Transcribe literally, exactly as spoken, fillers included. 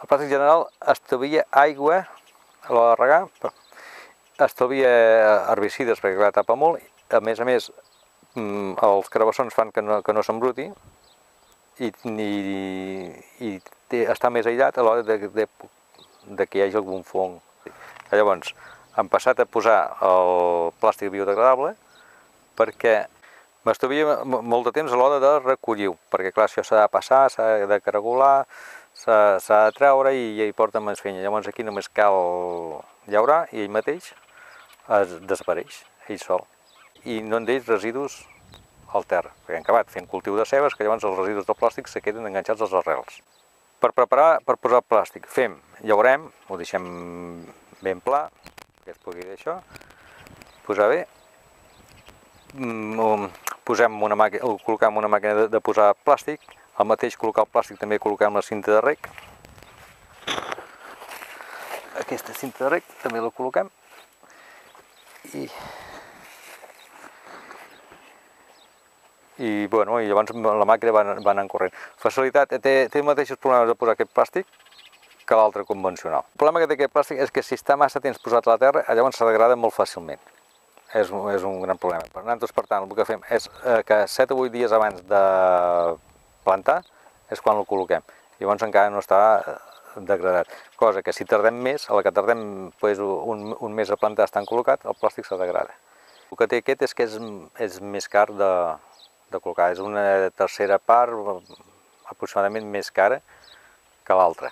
El plàstic general estalvia aigua a l'hora de regar, estalvia herbicides perquè clar, tapa molt, a més a més els carabassons fan que no, que no s'embruti i, i, i té, està més aïllat a l'hora de, de, de que hi hagi algun fong. Llavors, hem passat a posar el plàstic biodegradable perquè m'estalvia molt de temps a l'hora de recollir-ho, perquè clar, això s'ha de passar, s'ha de caragolar, s'ha de treure i ja hi porta més feina. Llavors aquí només cal llaurar i ell mateix es desapareix, ell sol. I no en deixa residus al terra, perquè hem acabat fent cultiu de cebes, que llavors els residus del plàstic se queden enganxats als arrels. Per preparar, per posar el plàstic, fem, llaurem, ho deixem ben pla, que es pugui dir això, posar bé, posem una màquina, col·locam una màquina de, de posar plàstic, al mateix col·locar el plàstic també col·locam la cinta de rec. Aquesta cinta de rec també la col·loquem i, i, bueno, i llavors la màquina va, va anant corrent. Facilitat, té, té els mateixos problemes de posar aquest plàstic que l'altre convencional. El problema que té aquest plàstic és que si està massa temps posat a la terra, llavors se degrada molt fàcilment. És, és un gran problema. Per nosaltres, per tant, el que fem és que set o vuit dies abans de plantar és quan el col·loquem. Llavors encara no està degradat. Cosa que si tardem més, a la que tardem pues, un, un mes a plantar estan col·locat, el plàstic se degrada. El que té aquest és que és, és més car de, de col·locar. És una tercera part aproximadament més cara que l'altra.